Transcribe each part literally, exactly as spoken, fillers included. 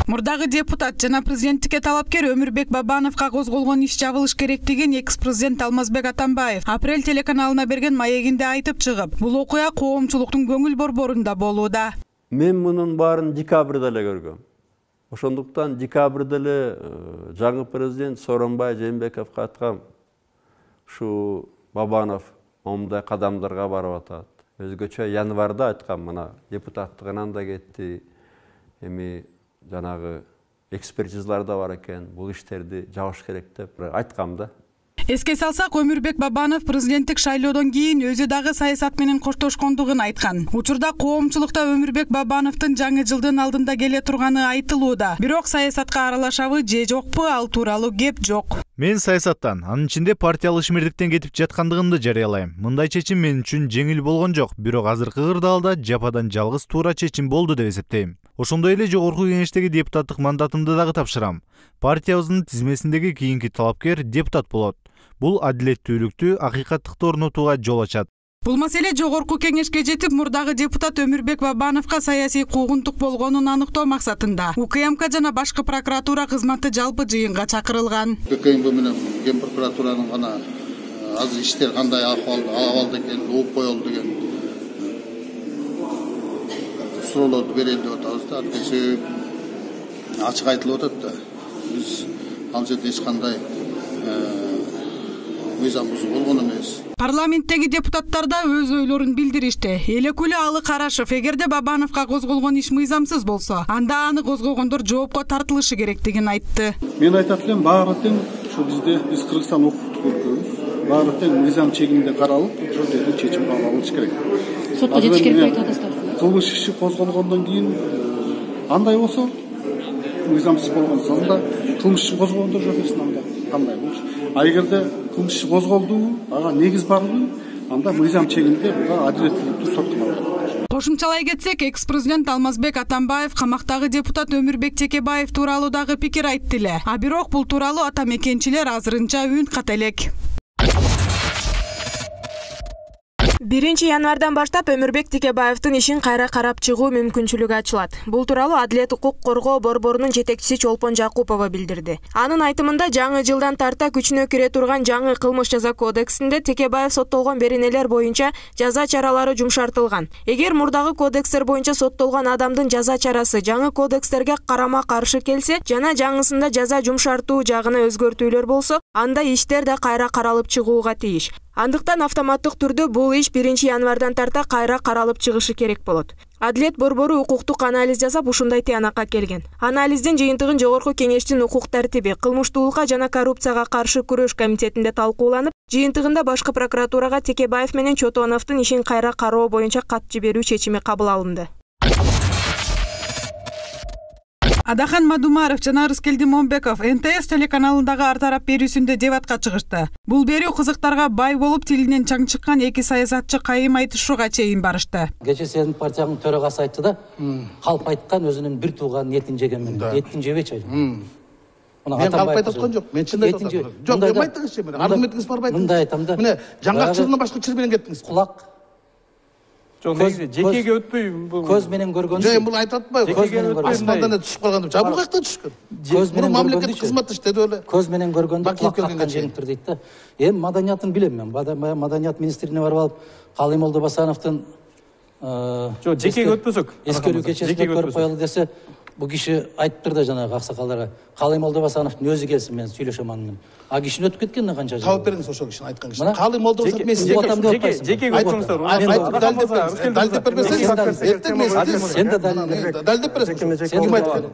Мурдагы депутат жана президенттикке талапкер Өмүрбек Бабановго козголгон иш жабылыш керектигин экс-президент Алмазбек Атамбаев Апрель телеканалына берген маегинде айтып чыгып, бул окуя коомчулуктун көңүл борборунда болууда. Мен мунун баарын декабрда эле көргөм. Ошондуктан декабрда эле жаңы президент Сооронбай Жээнбековго айткам, ушу Бабанов момундай кадамдарга барып атат. Өзгөчө январда айткам, мына депутаттыгынан да кетти. Эми жанагы экспертизалар да бар экен, бул иштерди жабыш керек деп айткам да. Эске салсак, Өмүрбек Бабанов президенттик шайлоодон кийин өзү дагы саясат менен коштошкондугун айткан. Учурда коомчулукта Өмүрбек Бабановдун жаңы жылдын алдында келе турганы айтылууда. Бирок саясатка аралашабы же жокпу, ал тууралуу кеп жок. Мен саясаттан, анын ичинде партиялык ишмердиктен кетип жаткандыгымды жарыялайм. Мындай чечим мен үчүн жеңил болгон жок, бирок азыркы кырдаалда жападан жалгыз туура чечим болду деп эсептейм. Ошондой эле жогорку кеңештеги депутаттык мандатымды дагы тапшырам. Партиябыздын тизмесиндеги кийинки талапкер депутат болот. Бул адилеттүүлүктү, акыйкаттыкты орнотууга жол ачат. Бул маселе жогорку кеңешке жетип, мурдагы депутат Өмүрбек Бабановго саясий куугунтук болгонун аныктоо максатында УКМК жана башкы прокуратура кызматы жалпы жыйынга чакырылган. УКМК менен Ген прокуратуранын гана азыр иштер кандай абалда экенин угуп коелу деген суроолорду берели деп атабыз да. Анткени ачык айтылып атат да. Биз ал жерде эч кандай мыйзам бузуу болгон эмес. Парламенттеги депутаттар да өз ойлорун билдиришти. Элекуле Алы Карашев, эгерде Бабановго козголгон иш мыйзамсыз болсо, анда аны козгогондор жоопко тартылышы керектигин айтты. Мен айтат элем, баары тең ушу бизде биз Кыргызстан укуктук өлкөбүз. Баары тең мыйзам чегинде каралып, ошол жерде чечим кабыл алыныш керек. Сотко жетиш керек деп айтып атасыздар. Кылмыш иши козголгондон кийин андай болсо, мыйзамсыз болгон соңда кылмыш ишин козгогондор жооп берсин, анда кандай болуш. А эгерде кылмыш иши козголду, ага негиз барбы, анда мыйзам чегинде буга адилеттүүлүктү соттолот. Кошумчалай кетсек, экс-президент Алмазбек Атамбаев камактагы депутат Өмүрбек Текебаев тууралуу дагы пикир айтты эле. А бирок бул тууралуу ата мекенчилер азырынча үн ката элек. биринчи январдан баштап Өмүрбек Текебаевдин ишин кайра карап чыгуу мүмкүнчүлүгү ачылат. Бул тууралуу Адилет укук коргоо борборунун жетекчиси Чолпон Жакупова билдирди. Анын айтымында, жаңы жылдан тарта күчүнө кире турган жаңы кылмыш жаза кодексинде Текебаев соттолгон беренелер боюнча жаза чаралары жумшартылган. Эгер мурдагы кодекстер боюнча соттолгон адамдын жаза чарасы жаңы кодекстерге карама-каршы келсе жана жаңысында жаза жумшартуу жагына өзгөртүүлөр болсо, анда иштер да кайра каралып чыгууга тийиш. Андыктан автоматтык түрдө бул иш биринчи январдан тарта кайра каралып чыгышы керек болот. Адилет борбору укуктук анализ жасап, ушундай тыянакка келген. Анализдин жыйынтыгын жогорку кеңештин укук тартиби, кылмыштуулукка жана коррупцияга каршы күрөш комитетинде талкууланып, жыйынтыгында башкы прокуратурага Текебаев менен Чотоновдун ишин кайра кароо боюнча кат жиберүү чечими кабыл алынды. Адахан Мадумаров жана Рыскелди Момбеков Эн Тэ Эс телеканалындагы ар тарап берүүсүндө дебатка чыгышты. Бул берүү кызыктарга бай болуп, тилинен чаң чыккан эки саясатчы кайым айтышууга чейин барышты. Кечээ сенин партияңдын төрагасы айтты да, калп айткан өзүнүн бир тууганын этин жегенмин. Этин жебечи айт. Мен калп айтып аткан жок. Мен чын айтып атам. Жок, эми айтыңызчы, мына аргументиңиз барбы айтыңыз. Мындай айтам да. Мына жаңгакчылыгынан башка чыр менен кеттиңиз. Кулак. Жекеге өтпөй, көз менен көргөн. Жок, бул айтып атпайбы? Асмандан түшүп калган деп. Жабыл каяктан түшкөн? Көз менен мамлекеттик кызматташ деди эле. Көз менен көргөндө кулак каккан жеңиптир дейт да. Эми маданиятын билем мен. Маданият министрине барып алып, Калый Молдобасановдун жок, жекеге өтпөсөк. Эскерүү кечесинде көрүп коелу десе, бул киши айтыптыр да жанагы аксакалдарга. Калый Молдобасановдун өзү келсин, мен сүйлөшөм анын. А кишини өтүп кеткен канча жыл. Таап бериңиз ошол кишини айткан кишини. Калый Молдобасанов мен жеке жекеге өтүңүздөр. Далдеп бербесеңиз, эртең мен сен да далдеп бересиз. Сен ким айткан?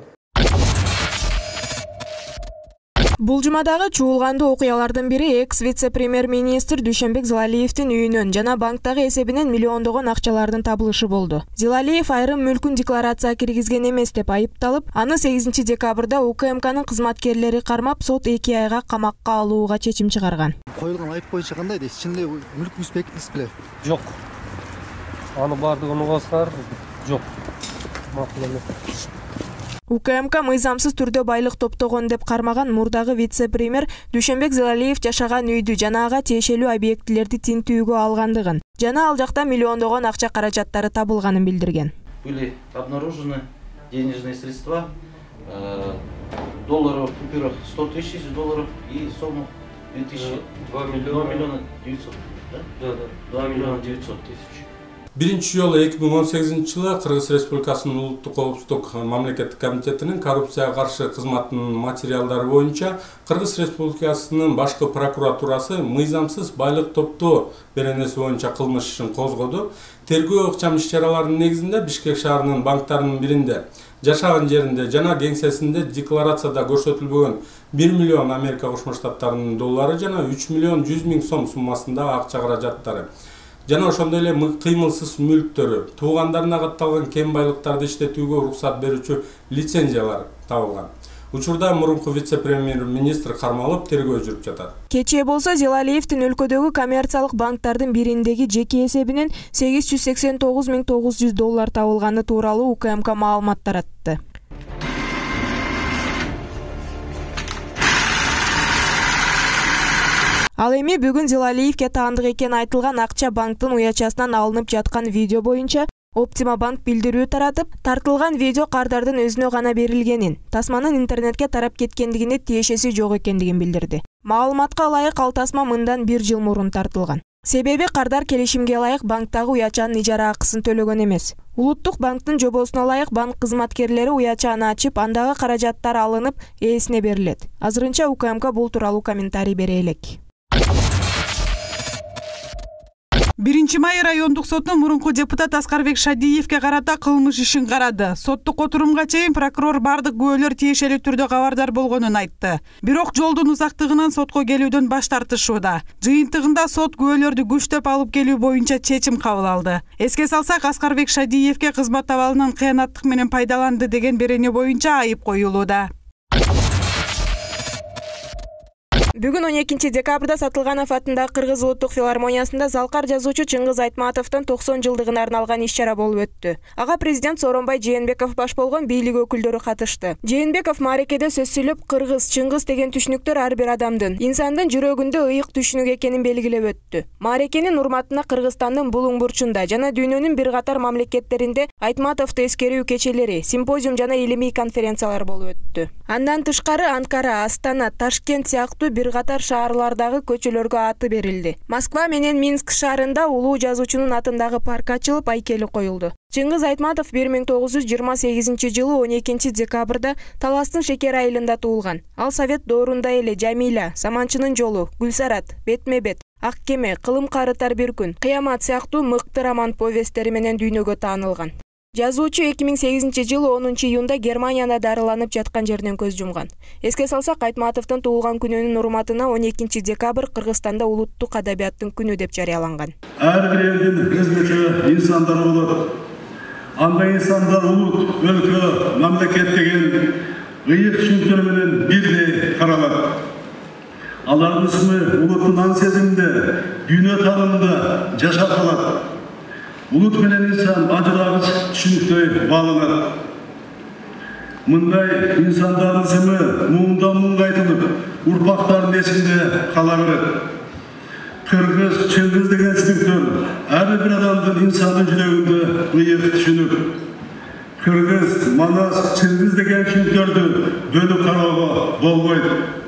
Бул жумадагы чуулгандуу окуялардын бири экс-вице-премьер-министр Дүйшөнбек Зилалиевдин үйүнөн жана банктагы эсебинен миллиондогон акчалардын табылышы болду. Зилалиев айрым мүлкүн декларацияга киргизген эмес деп айыпталып, аны сегизинчи декабрда УКМКнын кызматкерлери кармап, сот эки айга камакка алууга чечим чыгарган. Коюлган айып боюнча кандай дейсиз? Чын эле мүлкүңүз бекитиңиз беле? Жок. Аны бардыгын угасыздар. Жок. Макул эмес. УКМК мыйзамсыз түрдө байлык топтогон деп кармаган мурдагы вице-премьер Дүйшөнбек Зилалиев жашаган үйдү жана ага тиешелүү объектилерди тинтүүгө алгандыгын жана ал жакта миллиондогон акча каражаттары табылганын билдирген. Были обнаружены денежные средства долларов купюрах сто тысяч долларов и сумма две тысячи. два миллиона девятьсот. Да? Да, да. два миллиона девятьсот тысяч. Биринчи жолу эки миң он сегизинчи жылы Кыргыз Республикасынын Улуттук коопсуздук мамлекеттик комитетинин коррупцияга каршы кызматынын материалдары боюнча Кыргыз Республикасынын башкы прокуратурасы мыйзамсыз байлык топтоо беренеси боюнча кылмыш ишин козгоду. Тергөө ыкчам иш-чараларынын негизинде Бишкек шаарынын банктарынын биринде жашаган жеринде жана кеңсесинде декларацияда көрсөтүлбөгөн бир миллион Америка Кошмо Штаттарынын доллары жана үч миллион жүз миң сом суммасындагы акча каражаттары жана ошондой эле кыймылсыз мүлктөрү, туугандарына катталган кем байлыктарды иштетүүгө уруксат берүүчү лицензиялар табылган. Учурда мурунку вице-премьер-министр кармалып тергөө жүрүп жатат. Кечээ болсо Зелалиевдин өлкөдөгү коммерциялык банктардын бириндеги жеке эсебинен сегиз жүз сексен тогуз миң тогуз жүз доллар табылганы тууралуу УКМК маалымат таратты. Ал эми бүгүн Зелалиевге таандык экени айтылган акча банктын уячасынан алынып жаткан видео боюнча Оптима банк билдирүү таратып, тартылган видео кардардын өзүнө гана берилгенин, тасманын интернетке тарап кеткендигине тиешеси жок экендигин билдирди. Маалыматка ылайык ал тасма мындан бир жыл мурун тартылган. Себеби кардар келишимге ылайык банктагы уячанын ижара акысын төлөгөн эмес. Улуттук банктын жобосуна ылайык банк кызматкерлери уячаны ачып, андагы каражаттар алынып, ээсине берилет. Азырынча УКМК бул тууралуу комментарий бере элек. биринчи май райондук соту мурунку депутат Аскарбек Шадиевге карата кылмыш ишин карады. Соттук отурумга чейин прокурор бардык күбөлөр тиешелүү түрдө кабардар болгонун айтты. Бирок жолдун узактыгынан сотко келүүдөн баш тартышууда. Жыйынтыгында сот күбөлөрдү күчтөп алып келүү боюнча чечим кабыл алды. Эске салсак, Аскарбек Шадиевге кызмат абалынан кыянаттык менен пайдаланды деген берене боюнча айып коюлууда. Бүгүн он экинчи декабрда Сатылганов атындагы Кыргыз улуттук филармониясында залкар жазуучу Чыңгыз Айтматовдун токсон жылдыгына арналган иш-чара болуп өттү. Ага президент Сооронбай Жээнбеков баш болгон бийлик өкүлдөрү катышты. Жээнбеков маарекеде сөз сүйлөп, Кыргыз, Чыңгыз деген түшүнүктөр ар бир адамдын, инсандын жүрөгүндө ыйык түшүнүк экенин белгилеп өттү. Маарекенин урматына Кыргызстандын булуң бурчунда жана дүйнөнүн бир катар мамлекеттеринде Айтматовду эскерүү кечелери, симпозиум жана илимий конференциялар болуп өттү. Андан тышкары Анкара, Астана, Ташкент сыяктуу бир катар шаарлардагы көчөлөргө аты берилди. Москва менен Минск шаарында улуу жазуучунун атындагы парк ачылып, айкели коюлду. Чыңгыз Айтматов бир миң тогуз жүз жыйырма сегизинчи жылы он экинчи декабрда Таластын Шекер айылында туулган. Ал Совет доорунда эле Жамиля, Саманчынын жолу, Гүлсарат, Бетме-бет, Ак кеме, Кылым карытар бир күн, Кыямат сыяктуу мыкты роман повесттери менен дүйнөгө таанылган. Жазуучу эки миң сегизинчи жылы онунчу июнда Германияда дарыланып жаткан жерден көз жумган. Эске салсак, Айтматовдун туулган күнүнүн урматына он экинчи декабрь Кыргызстанда улуттук адабияттын күнү деп жарыяланган. Ар бир элдин өзгөчө инсандары болот. Андай инсандар улут, өлкө, мамлекет деген ыйык түшүнүктөр менен бирдей каралат. Алардын исми улуттун ан сезиминде, дүйнө таанымында жашап калат. Улут менен инсан ажырагыч түшүнүктөй багланат. Мындай инсандардын исми муңдан муңга айтылып, урпактардын эсинде кала берет. Кыргыз, Чыңгыз деген түшүнүктөр ар бир адамдын инсандын жүрөгүндө ыйык түшүнүк. Кыргыз, Манас, Чыңгыз деген түшүнүктөрдү бөлүп кароого болбойт.